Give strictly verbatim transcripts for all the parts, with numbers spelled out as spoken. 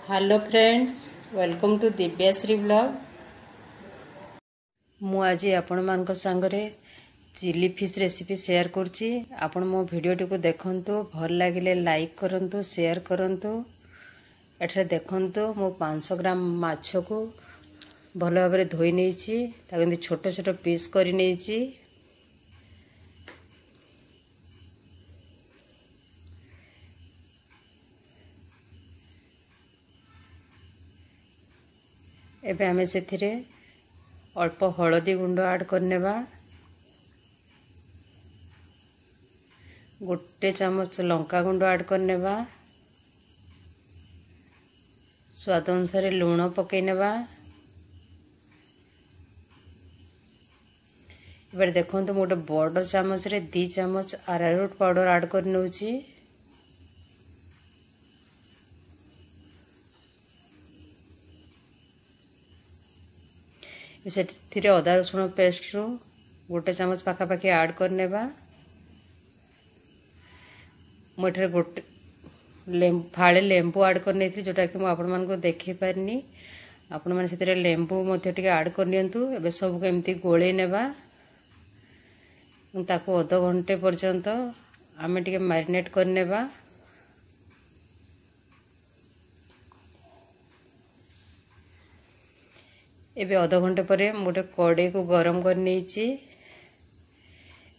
Hello friends, welcome to Dibyashree vlog. ମୁଁ ଆଜି ଆପଣମାନଙ୍କ ସାଙ୍ଗରେ ଚିଲି ଫିସ୍ ରେସିପି ସେୟାର କରୁଛି। ଆପଣ ମୋ ଭିଡ଼ିଓଟିକୁ ଦେଖନ୍ତୁ, ଭଲ ଲାଗିଲେ ଲାଇକ୍ କରନ୍ତୁ, ସେୟାର କରନ୍ତୁ। ଏଠାରେ ଦେଖନ୍ତୁ, ମୁଁ ପାଞ୍ଚଶହ ଗ୍ରାମ ମାଛକୁ ଭଲ ଭାବରେ ଧୋଇ ନେଇଛି, ତାକୁ ଏମିତି ଛୋଟ ଛୋଟ ପିସ୍ କରି ନେଇଛି। ଏବେ ଆମେ ସେଥିରେ ଅଳ୍ପ ହଳଦୀ ଗୁଣ୍ଡ ଆଡ଼୍ କରିନେବା, ଗୋଟେ ଚାମଚ ଲଙ୍କା ଗୁଣ୍ଡ ଆଡ଼୍ କରିନେବା, ସ୍ୱାଦ ଅନୁସାରେ ଲୁଣ ପକାଇ ନେବା। ଏবার ଦେଖନ୍ତୁ, ମୁଁ ଗୋଟେ ବଡ଼ ଚାମଚରେ ଦୁଇ ଚାମଚ ଆରାରୁଟ୍ ପାଉଡ଼ର ଆଡ଼୍ କରି ନେଉଛି। ସେଥିରେ ଅଦା ରସୁଣ ପେଷ୍ଟରୁ ଗୋଟେ ଚାମଚ ପାଖାପାଖି ଆଡ଼୍ କରିନେବା। ମୁଁ ଏଠାରେ ଗୋଟେ ଫାଳେ ଲେମ୍ବୁ ଆଡ଼୍ କରିନେଇଥିଲି, ଯେଉଁଟାକି ମୁଁ ଆପଣମାନଙ୍କୁ ଦେଖାଇ ପାରିନି। ଆପଣମାନେ ସେଥିରେ ଲେମ୍ବୁ ମଧ୍ୟ ଟିକେ ଆଡ଼୍ କରିନିଅନ୍ତୁ। ଏବେ ସବୁକୁ ଏମିତି ଗୋଳେଇ ନେବା। ତାକୁ ଅଧଘଣ୍ଟେ ପର୍ଯ୍ୟନ୍ତ ଆମେ ଟିକେ ମ୍ୟାରିନେଟ୍ କରିନେବା। ଏବେ ଅଧଘଣ୍ଟେ ପରେ ମୁଁ ଗୋଟେ କଡ଼େଇକୁ ଗରମ କରି ନେଇଛି।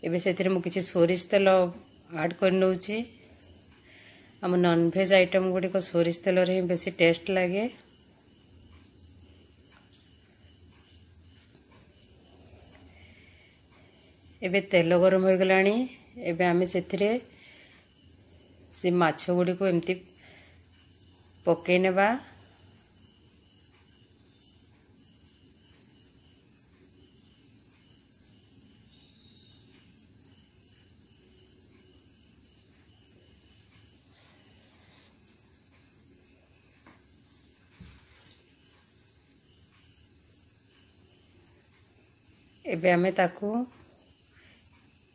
ଏବେ ସେଥିରେ ମୁଁ କିଛି ସୋରିଷ ତେଲ ଆଡ଼୍ କରି ନେଉଛି। ଆମ ନନଭେଜ୍ ଆଇଟମ୍ ଗୁଡ଼ିକ ସୋରିଷ ତେଲରେ ହିଁ ବେଶୀ ଟେଷ୍ଟ ଲାଗେ। ଏବେ ତେଲ ଗରମ ହୋଇଗଲାଣି। ଏବେ ଆମେ ସେଥିରେ ସେ ମାଛ ଗୁଡ଼ିକୁ ଏମିତି ପକାଇ ନେବା। ଏବେ ଆମେ ତାକୁ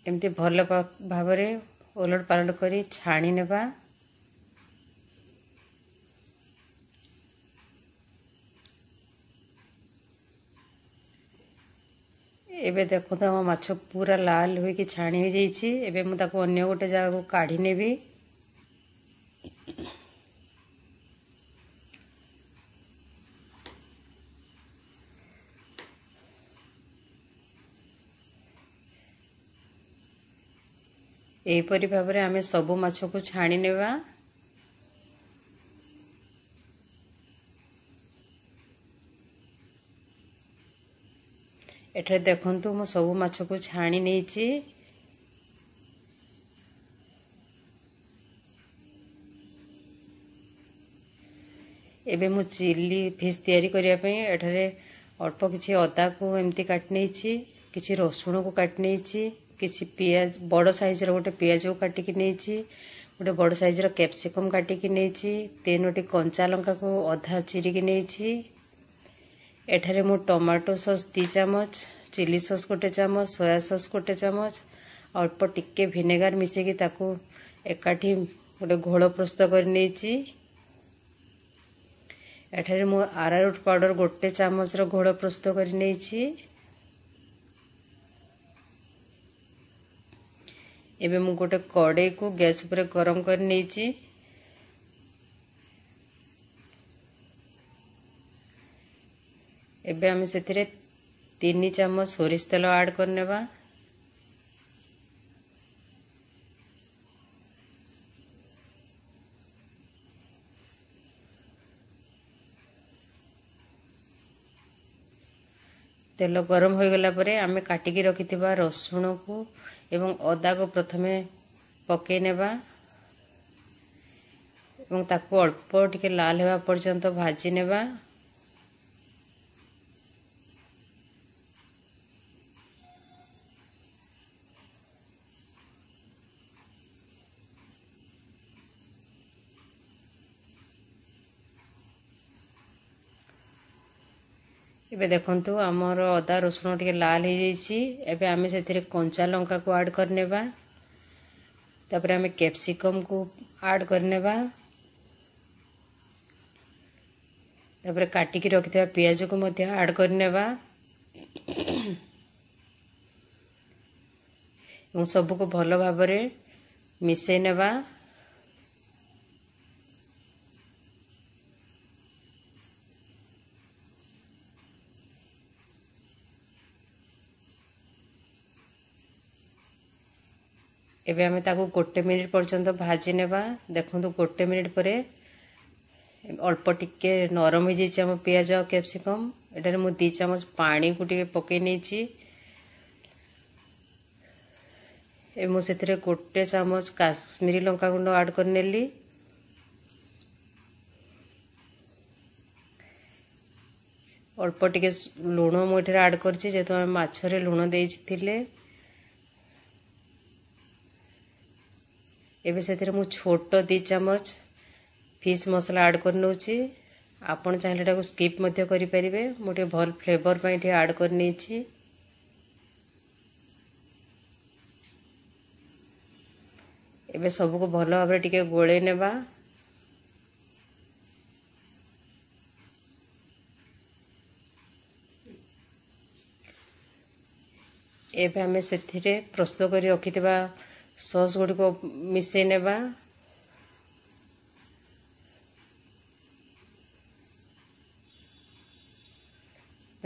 ଏମିତି ଭଲ ଭାବରେ ଓଲଟ ପାଲଟ କରି ଛାଣି ନେବା। ଏବେ ଦେଖନ୍ତୁ, ଆମ ମାଛ ପୁରା ଲାଲ ହୋଇକି ଛାଣି ହୋଇଯାଇଛି। ଏବେ ମୁଁ ତାକୁ ଅନ୍ୟ ଗୋଟେ ଜାଗାକୁ କାଢ଼ି ନେବି। ଏହିପରି ଭାବରେ ଆମେ ସବୁ ମାଛକୁ ଛାଣି ନେବା। ଏଠାରେ ଦେଖନ୍ତୁ, ମୁଁ ସବୁ ମାଛକୁ ଛାଣି ନେଇଛି। ଏବେ ମୁଁ ଚିଲି ଫିସ୍ ତିଆରି କରିବା ପାଇଁ ଏଠାରେ ଅଳ୍ପ କିଛି ଅଦାକୁ ଏମିତି କାଟି ନେଇଛି, କିଛି ରସୁଣକୁ କାଟି ନେଇଛି, କିଛି ପିଆଜ, ବଡ଼ ସାଇଜ୍ର ଗୋଟେ ପିଆଜକୁ କାଟିକି ନେଇଛି, ଗୋଟେ ବଡ଼ ସାଇଜ୍ର କ୍ୟାପ୍ସିକମ୍ କାଟିକି ନେଇଛି, ତିନୋଟି କଞ୍ଚା ଲଙ୍କାକୁ ଅଧା ଚିରିକି ନେଇଛି। ଏଠାରେ ମୁଁ ଟମାଟୋ ସସ୍ ଦୁଇ ଚାମଚ, ଚିଲି ସସ୍ ଗୋଟେ ଚାମଚ, ସୋୟା ସସ୍ ଗୋଟେ ଚାମଚ, ଅଳ୍ପ ଟିକେ ଭିନେଗାର ମିଶାଇକି ତାକୁ ଏକାଠି ଗୋଟେ ଘୋଳ ପ୍ରସ୍ତୁତ କରି ନେଇଛି। ଏଠାରେ ମୁଁ ଆରାରୁଟ୍ ପାଉଡ଼ର ଗୋଟେ ଚାମଚର ଘୋଳ ପ୍ରସ୍ତୁତ କରି ନେଇଛି। ଏବେ ମୁଁ ଗୋଟେ କଡ଼େଇକୁ ଗ୍ୟାସ୍ ଉପରେ ଗରମ କରି ନେଇଛି। ଏବେ ଆମେ ସେଥିରେ ତିନି ଚାମଚ ସୋରିଷ ତେଲ ଆଡ଼୍ କରିନେବା। ତେଲ ଗରମ ହୋଇଗଲା ପରେ ଆମେ କାଟିକି ରଖିଥିବା ରସୁଣକୁ ଏବଂ ଅଦାକୁ ପ୍ରଥମେ ପକାଇ ନେବା ଏବଂ ତାକୁ ଅଳ୍ପ ଟିକେ ଲାଲ ହେବା ପର୍ଯ୍ୟନ୍ତ ଭାଜି ନେବା। ଏବେ ଦେଖନ୍ତୁ, ଆମର ଅଦା ରସୁଣ ଟିକେ ଲାଲ ହେଇଯାଇଛି। ଏବେ ଆମେ ସେଥିରେ କଞ୍ଚା ଲଙ୍କାକୁ ଆଡ଼୍ କରିନେବା। ତାପରେ ଆମେ କ୍ୟାପ୍ସିକମ୍କୁ ଆଡ଼୍ କରିନେବା। ତାପରେ କାଟିକି ରଖିଥିବା ପିଆଜକୁ ମଧ୍ୟ ଆଡ଼୍ କରିନେବା ଏବଂ ସବୁକୁ ଭଲ ଭାବରେ ମିଶାଇ ନେବା। ଏବେ ଆମେ ତାକୁ ଗୋଟେ ମିନିଟ୍ ପର୍ଯ୍ୟନ୍ତ ଭାଜି ନେବା। ଦେଖନ୍ତୁ, ଗୋଟେ ମିନିଟ୍ ପରେ ଅଳ୍ପ ଟିକେ ନରମ ହେଇଯାଇଛି ଆମ ପିଆଜ ଆଉ କ୍ୟାପ୍ସିକମ୍। ଏଠାରେ ମୁଁ ଦୁଇ ଚାମଚ ପାଣିକୁ ଟିକେ ପକାଇ ନେଇଛି। ଏବେ ମୁଁ ସେଥିରେ ଗୋଟେ ଚାମଚ କାଶ୍ମୀରୀ ଲଙ୍କା ଗୁଣ୍ଡ ଆଡ଼୍ କରିନେଲି। ଅଳ୍ପ ଟିକେ ଲୁଣ ମୁଁ ଏଠାରେ ଆଡ଼୍ କରିଛି, ଯେହେତୁ ଆମେ ମାଛରେ ଲୁଣ ଦେଇଥିଲେ। ଏବେ ସେଥିରେ ମୁଁ ଛୋଟ ଦୁଇ ଚାମଚ ଫିସ୍ ମସଲା ଆଡ଼୍ କରିନେଉଛି। ଆପଣ ଚାହିଁଲେ ଏଟାକୁ ସ୍କିପ୍ ମଧ୍ୟ କରିପାରିବେ। ମୁଁ ଟିକେ ଭଲ ଫ୍ଲେଭର୍ ପାଇଁ ଟିକେ ଆଡ଼୍ କରିନେଇଛି। ଏବେ ସବୁକୁ ଭଲ ଭାବରେ ଟିକେ ଗୋଳେଇ ନେବା। ଏବେ ଆମେ ସେଥିରେ ପ୍ରସ୍ତୁତ କରି ରଖିଥିବା ସସ୍ ଗୁଡ଼ିକ ମିଶାଇ ନେବା।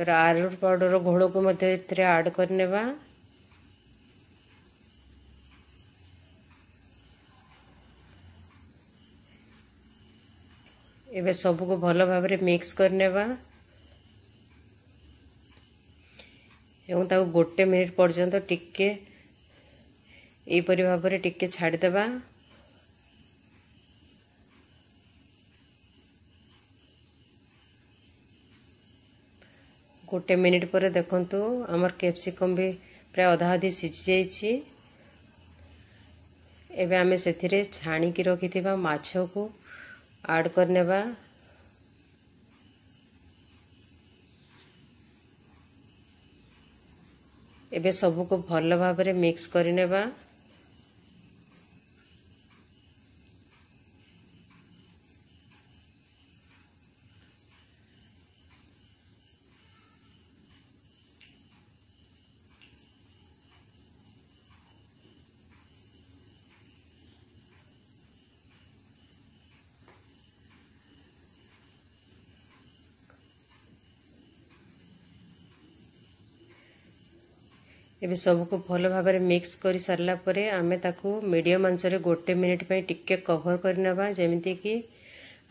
ଆରାରୁଟ୍ ପାଉଡ଼ର ଘୋଳକୁ ମଧ୍ୟ ଏଥିରେ ଆଡ଼୍ କରିନେବା। ଏବେ ସବୁକୁ ଭଲ ଭାବରେ ମିକ୍ସ କରିନେବା ଏବଂ ତାକୁ ଗୋଟେ ମିନିଟ୍ ପର୍ଯ୍ୟନ୍ତ ଟିକେ ଏହିପରି ଭାବରେ ଟିକେ ଛାଡ଼ିଦେବା। ଗୋଟେ ମିନିଟ୍ ପରେ ଦେଖନ୍ତୁ, ଆମର କ୍ୟାପ୍ସିକମ୍ ବି ପ୍ରାୟ ଅଧା ଅଧି ସିଝି ଯାଇଛି। ଏବେ ଆମେ ସେଥିରେ ଛାଣିକି ରଖିଥିବା ମାଛକୁ ଆଡ଼୍ କରିନେବା। ଏବେ ସବୁକୁ ଭଲ ଭାବରେ ମିକ୍ସ କରିନେବା। ଏବେ ସବୁକୁ ଭଲ ଭାବରେ ମିକ୍ସ କରି ସାରିଲା ପରେ ଆମେ ତାକୁ ମିଡ଼ିୟମ୍ ଆଞ୍ଚରେ ଗୋଟେ ମିନିଟ୍ ପାଇଁ ଟିକେ କଭର୍ କରିନେବା, ଯେମିତିକି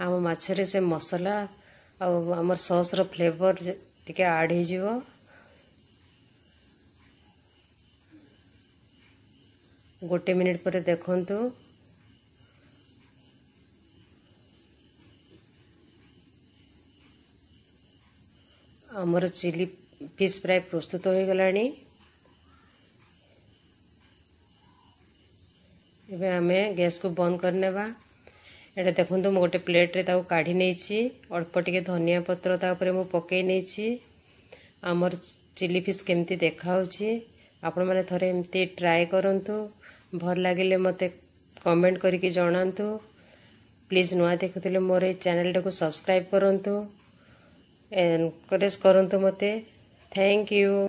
ଆମ ମାଛରେ ସେ ମସଲା ଆଉ ଆମର ସସ୍ର ଫ୍ଲେଭର୍ ଟିକେ ଆଡ଼୍ ହେଇଯିବ। ଗୋଟେ ମିନିଟ୍ ପରେ ଦେଖନ୍ତୁ, ଆମର ଚିଲି ଫିସ୍ ଫ୍ରାଏ ପ୍ରସ୍ତୁତ ହୋଇଗଲାଣି। ଏବେ ଆମେ ଗ୍ୟାସ୍କୁ ବନ୍ଦ କରିନେବା। ଏଇଟା ଦେଖନ୍ତୁ, ମୁଁ ଗୋଟେ ପ୍ଲେଟ୍ରେ ତାକୁ କାଢ଼ି ନେଇଛି। ଅଳ୍ପ ଟିକେ ଧନିଆ ପତ୍ର ତା ଉପରେ ମୁଁ ପକାଇ ନେଇଛି। ଆମର ଚିଲି ଫିସ୍ କେମିତି ଦେଖାହେଉଛି, ଆପଣମାନେ ଥରେ ଏମିତି ଟ୍ରାଏ କରନ୍ତୁ। ଭଲ ଲାଗିଲେ ମୋତେ କମେଣ୍ଟ କରିକି ଜଣାନ୍ତୁ। ପ୍ଲିଜ୍ ନୂଆ ଦେଖୁଥିଲେ ମୋର ଏଇ ଚ୍ୟାନେଲଟାକୁ ସବସ୍କ୍ରାଇବ୍ କରନ୍ତୁ, ଏନକରେଜ୍ କରନ୍ତୁ ମୋତେ। Thank you.